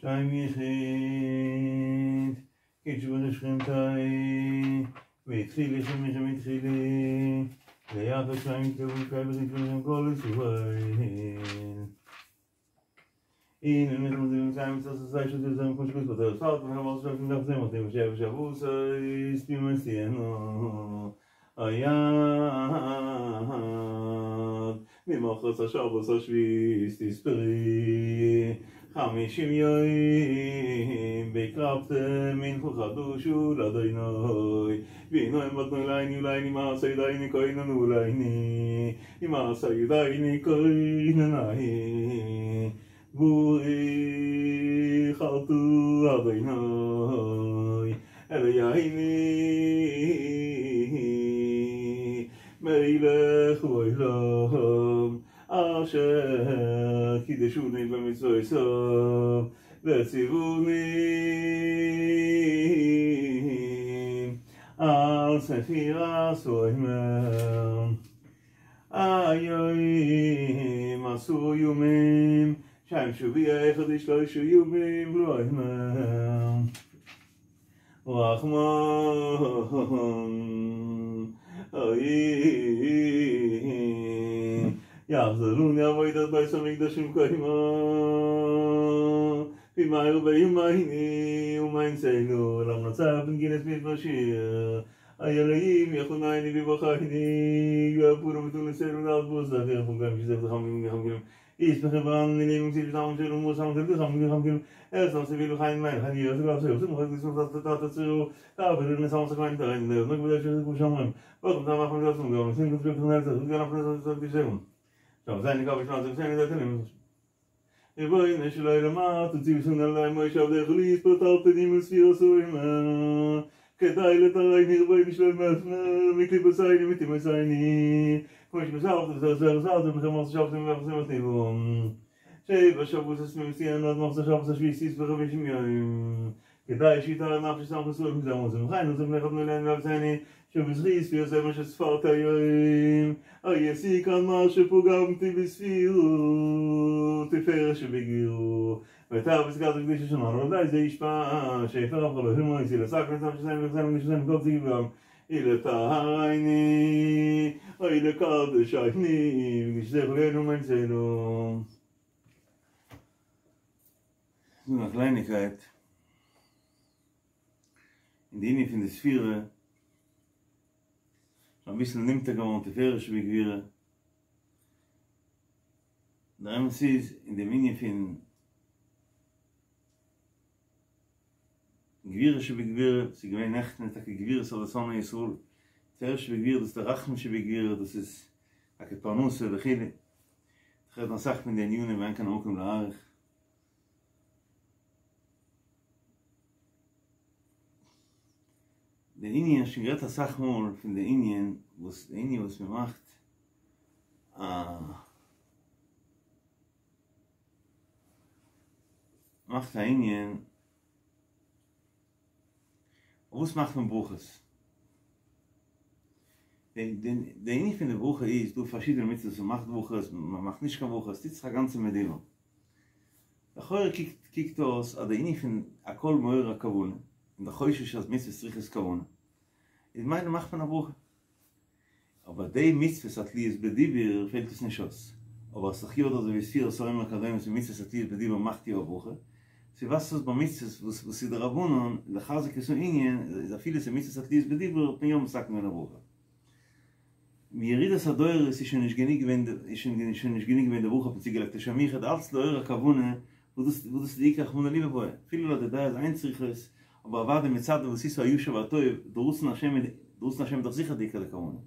שם יחיד, קודשא בריך הוא ושכינתיה, והתחיל לכם מכם התחילי, ויחד שם יקבו קייבז יקבו כל ישראל. הנה מלך מזימים קיים מצוות עשה של זה כמו שכתוב בתורה ספר וחמור של מלך זה מתאים שבע שבו ספים מסיינו היד ממחרת השבוס השביס תספרי 50 יום והקרבתם מנחו חדושו לאדוני והנה הם בדנו לעיני ולעיני מעשה ידייני כהננו ולעיני מעשה ידייני כהנני ברוך אתה אדוני אלוהינו מלך העולם אשר קידשוני במצוותיו וציווני על ספירת העומר. היום עשו יומים שם שביע אחד שלושה יומים לעומר. רחמן יחזרוני עבודת בית המקדש ומקיימה במהר ביומייני ומיינסנו למנצח בנגינס מתמשיר אלוהים יחונני בבחייני יאפורו ותונסנו לארבוז לאחר חוגם שזב לחמים וחמים איש בחברן מילים מציל בטעם של ומוסם של חמים וחמים ארץ סביל וחיים מים חיים יוסף ואפשר יוסף מוחק לסוף תת תצרו תעביר לנסם סכין תרין נק בדש של כולם אומרים ברוך אתה אנחנו נעשו גם נשים כתוב בתנאי זה גם אנחנו נעשו תשאו טוב זה נקרא בשנה זה בסדר זה תן ריבונו של עולם תוציאו סונן עלי מוישה עבדך ליספר תרפדים וספיר סוימה כדאי לתרייני ריבונו של עולם מקליפסייני מתימסייני כמו שמסרת וזר זר זר ומחמר שבתם ומחזר מתיבום שבע שבוס עשמים סיין עד מחזר שבוס השביעי וחמישים יום כדאי שיטה נפש סמך סורים מזר מוזם חיים נוזם נכד נולן ואבסני שבזכי ספיר זה מה שספרת היום אייסי כאן מה שפוגמתי בספירות תפאר שבגירו ותר בסגרת הקדיש השנה ודאי זה ישפע שיפר אף לא המו יציל עסק נסם שסיים וחסם ושסיים כל ציגם אלה טהרייני אלה קדש עיני וגשתך לנו מנצלו So eine Kleinigkeit. In die Linie von der Sphäre, schon ein bisschen nimmt er geworden, die Fähre schon wie Der Emes ist, in der Linie von Gewirre שבגביר, sie gewähne echt nicht, dass Gewirre soll das Sonne Yisroel. Fähre שבגביר, das ist der Rachmen שבגביר, das ist eine Parnusse, וכילי. אחרת נסח מן די עניונים, ואין כאן עמוקים לארך. Der Indien, schon gerät das Sachmol von der Indien, wo es, der Indien, was mir macht, macht der Indien, was macht man Bruches? Der Indien von der Bruche ist, du verschiedene Mitzvahs, man macht Bruches, man macht nicht kein Bruches, das ist die ganze Medina. Der kickt, kickt aus, aber der Indien von Akol Moer Akavun, in der Choshe als Mitzvah Striches Kavun. Ich meine, macht man eine Bruche. Aber die Mitzvah hat lies bedibir, fehlt es nicht aus. Aber es ist so wie es so immer kadem, so Mitzvah hat lies bedibir, macht die Bruche. Sie was das bei Mitzvah, was was sie der Rabunon, der Chazak ist so Indien, ist a viele Mitzvah hat lies bedibir, bin jom sagt mir eine Bruche. מיריד הסדויר ist schon nicht genig wenn ist schon nicht genig wenn der Bruche hat sie gelegt schon mich hat als der Kavune wo das wo das die Kavune liebe boy viele Leute da ist einziges aber warte mit Zeit, wo sie so Ayusha war toll, du Russen Hashem, du Russen Hashem doch sicher die Kavune.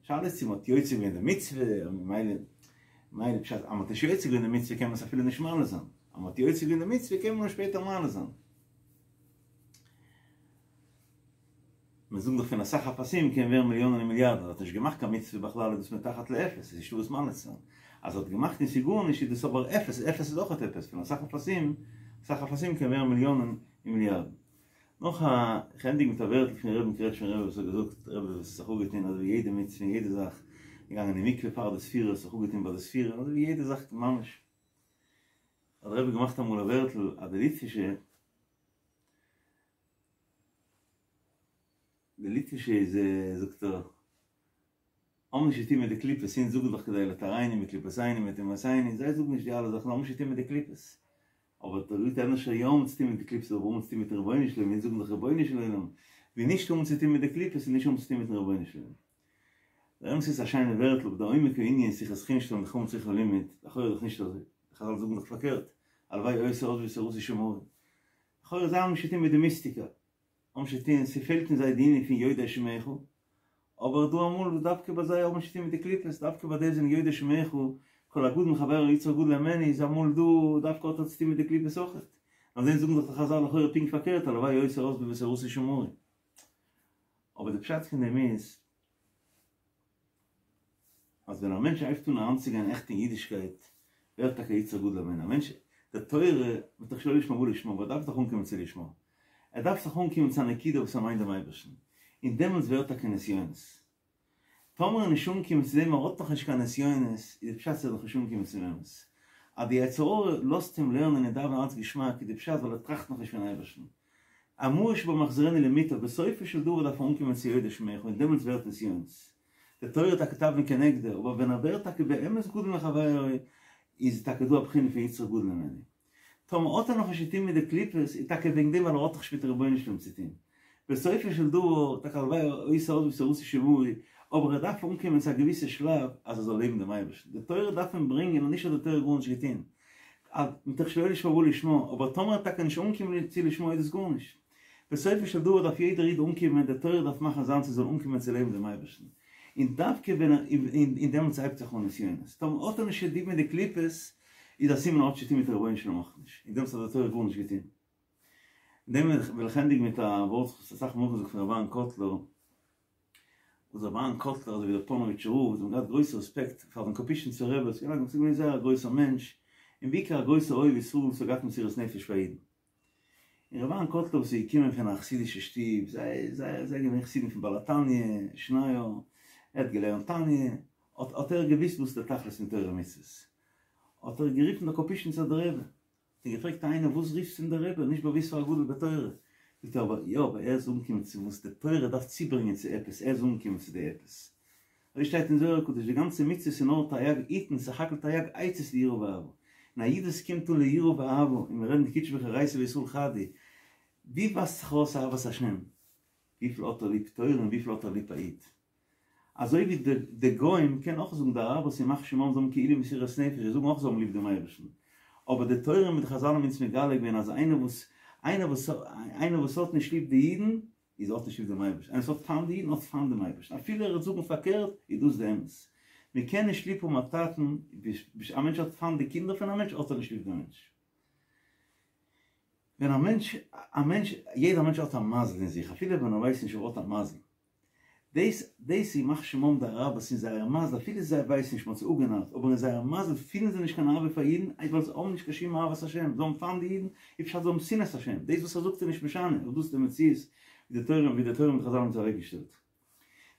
Schade ist, sie hat Jötze in der Mitzwe, meine meine Pshat, aber die Jötze in der Mitzwe kann man so viele nicht malen sein. Aber die Jötze in der Mitzwe kann man später malen sein. Man sagt doch, wenn er Sache passiert, kann wer Millionen und Milliarden. Hat nicht gemacht, kann Mitzwe בכלל, das מתחת לאפס, זה שהוא זמן לצן. אז hat gemacht, in Sigur, nicht, das aber אפס, אפס ist auch אפס. Wenn er Sache passiert, Sache passiert, kann wer Millionen und Milliarden. Noch a handig mit der Welt von Reben Kretsch von Reben so gesagt Reben was auch getan also jede mit jede Sache gegangen in die Mikve paar des Vierers auch getan bei des Vierer also jede Sache mamisch. האט דער רבי געמאכט אמאל א ווערטל אז די ליטווישע די ליטווישע איז זאגט ער האבן נישט צוטון מיט די קליפות, אונז זאגן דאך כדי לטהרנו מקליפותינו מטומאותינו, זיי זאגן נישט די אלע זאכן, זיי האבן נישט צוטון מיט די קליפות. אבער דער ליטע ענדערש יא האבן צוטון מיט די קליפות אבער האבן צוטון מיטן רבונו של עולם, אונז זאגן דאך רבונו של עולם, ווי נישט האבן צוטון מיט די קליפות איז נישט האבן צוטון מיטן רבונו של עולם. דער אמת איז א שיינע ווערטל אבער דער עומק הענין אין שיחת חוץ שטעלן די חמץ זיכער לימוד, לכאורה איז דאך נישט אזוי, די חזל זאגן דאך פארקערט, הלוואי היתה עוזבי תורתי שמרי. לכאורה זיי האבן נישט צוטון מיט די מיסטיקה. האבן נישט צוטון, ס'פעלט אין זיי די ענין פון יודעי שמך, אבער דא אמאל וואס דווקא ביי זיי האבן נישט צוטון מיט די קליפות, דווקא ביי די זענען יודעי שמך, כל הגדול מחבירו יצרו גדול הימנו, איז אמאל דא דווקא האט ער צוטון מיט די קליפות אויכעט. אויף דעם זאגן דאך די חזל לכאורה פונקט פארקערט הלוואי היתה עוזבי ותורתי שמרי. אבער די פשט פון דעם איז, אז ווען א מענטש הייבט אן אריינצוגיין עכט אין אידישקייט, ווערט טאקע יצרו גדול הימנו. א מענטש, די תורה, מתוך שלא לשמה בא לשמה, אבער ער דארף דאך אנקומען צו לשמה. ער דארף זיך אנקומען צו א נקודה וואס ער מיינט דעם אייבערשטן. און דעמאלטס ווערט טאקע נסיונות. טאמער ער נישט אנגעקומען צו דעם ער האט נאך נישט קיין נסיונות, איז די פשט אז ער איז נאך נישט אנגעקומען צום אמת. אז די יצר הרע לאזט אים לערנען און דאווענען אלץ געשמאק איז די פשט ווייל ער טראכט נאך נישט פון אייבערשטן. המאוש בה מחזירנו למוטב, בסופו של דבר דארף ער אנקומען צו יודע שמך און דעמאלטס ווערט נסיונות. די תורה טאקע תבנית כנגדו, אבער ווען ער ווערט טאקע באמת גדול מחבירו, איז טאקע דא א בחינה פון יצרו גדול הימנו. טאמער האט ער נאך נישט צוטון מיט די קליפות, איז טאקע וועגן דעם ווייל ער האט נאך נישט מיט רבונו של עולם צוטון. בסופו של דבר, טאקע הלוואי היתה עוזבי ותורתי שמרי, אבער ער דארף אנקומען צו א געוויסע שלב אז ער זאל לעבן דעם אייבערשטן. די תורה דארף אים ברענגען און נישט האט די תורה גארנישט געטון. מתוך שלא לשמה בא לשמה, אבער טאמער ער טאקע נישט אנקומען צו לשמה איז דאס גארנישט. בסופו של דבר דארף יעדער איד אנקומען, די תורה דארף מאכן זיינס ער זאל אנקומען צו לעבן דעם אייבערשטן. און דווקא ווען ער, און דעמאלטס הייבט זיך אן נסיונות. טאמער האט ער נישט צוטון מיט די קליפות, איז א סימן ער האט נישט צוטון מיט רבונו של עולם אויך נישט. און דעמאלטס האט די תורה גארנישט געטון. אין דעם וועל איך ענדיגן מיט א ווארט וואס אסאך מאל נאכגעזאגט פון רבי אהרן קאטלער, וואס רבי אהרן קאטלער אזוי ווי דער פאנאוויטשער רב, זיי האבן געהאט גרויס רעספעקט פאר דעם קאפישניצער רבי, ס'איז געווען זייער א גרויסער מענטש, און בעיקר א גרויסער אוהב ישראל וואס האט געהאט מסירות נפש פאר אידן. און רבי אהרן קאטלער וואס איז געקומען פון א חסידישע שטוב, זיי זיי זיי געווען חסידים פון בעל התניא, שניאור, ער האט געלערנט תניא, האט האט ער געוואוסט וואס איז דער תכלית פון תורה ומצוות, האט ער גערופן דער קאפישניצער דער רבי, האט אים געפרעגט איינער וואס רופסטו אים דער רבי, נישט באוואוסט פאר א גדול בתורה, זאגט ער אבער יא אבער ער איז אנגעקומען צו וואס די תורה דארף צוברענגען צו עפעס, ער איז אנגעקומען צו די עפעס. אזוי שטייט אין זוהר הקדוש, די גאנצע מצוות איז נאר תרי"ג עיטין, סך הכל תרי"ג עצות ליראה ואהבה. און א איד וואס קומט אן ליראה ואהבה, און מיר רעדן דקודשא בריך הוא אורייתא וישראל חד הוא, ווי ווייזט זיך ארויס אהבת השם? וויפיל האט ער ליב תורה און וויפיל האט ער ליב א איד? אזוי ווי די די גוים קענען אויך זאגן די אראבערס ימח שמם זיי האבן כאילו מסירות נפש זיי זאגן אויך זיי האבן ליב דעם אייבערשטן אבער די תורה מיט די חזל האבן אונז מגלה געווען אז איינער וואס איינער וואס איינער וואס האט נישט ליב די אידן איז האט נישט ליב דעם אייבערשטן איינער וואס האט פיינט די אידן האט פיינט דעם אייבערשטן אפילו ער וועט זאגן פארקערט איז דאס די אמת מען קען נישט ליב האבן א טאטן א מענטש האט פיינט די קינדער פון א מענטש האט ער נישט ליב דעם מענטש. ווען א מענטש א מענטש יעדער מענטש האט א מזל אין זיך אפילו ווען ער ווייסט נישט ער האט א מזל דאס דאס ימח שמם די אראבערס אין זייער מזל אפילו זיי ווייסן נישט מ'האט זיי אפגענארט אבער אין זייער מזל פילן זיי נישט קיין אהבה פאר אידן איז ווייל זיי האבן נישט קיין שום אהבת השם זיי האבן פיינט די אידן איז פשט זיי האבן שנאת השם דאס וואס ער זאגט איז נישט משנה אבער דאס איז די מציאות ווי די תורה ווי די תורה מיט חזל האבן עס אוועקגעשטעלט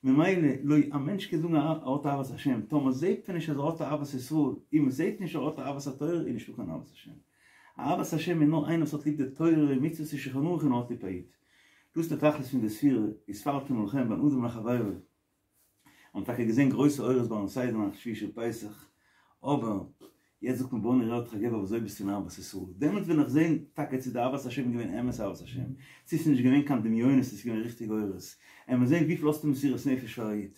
ממילא לא א מענטש קען זאגן ער האט אהבת השם טאמער זעהט מען נישט אז ער האט אהבת ישראל און מען זעהט נישט ער האט אהבת התורה איז נישטא קיין אהבת השם אהבת השם איז נאר איינער וואס האט ליב די תורה מצוות און שולחן ערוך און האט ליב א איד. דאס איז די תכלית פון די ספירה, וספרתם לכם בין אדם לחבירו. האבן טאקע געזען גרויסע אורות ביים סדר נאכט שביעי של פסח, אבער יעצט זאגט מען בוא נראה אותך גבר וויאזוי ביסטו אין אהבת ישראל, דעמאלטס וועל איך זען טאקע צו די אהבת השם איז געווען אמת אהבת השם, צו ס'איז נישט געווען קיין דמיונות ס'איז געווען ריכטיגע אורות, עמער זען וויפיל האסטו מסירות נפש פאר א איד.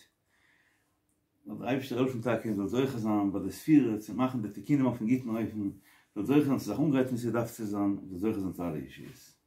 זאל דער אייבערשטער העלפן טאקע מ'זאל זוכה זיין ביי די ספירה צו מאכן די תיקונים אויפן גוטן אופן, זאל זוכה זיין צו זיך אנגרייטן ווי ס'דארף צו זיין, זאל זוכה זיין צו אלע ישועות.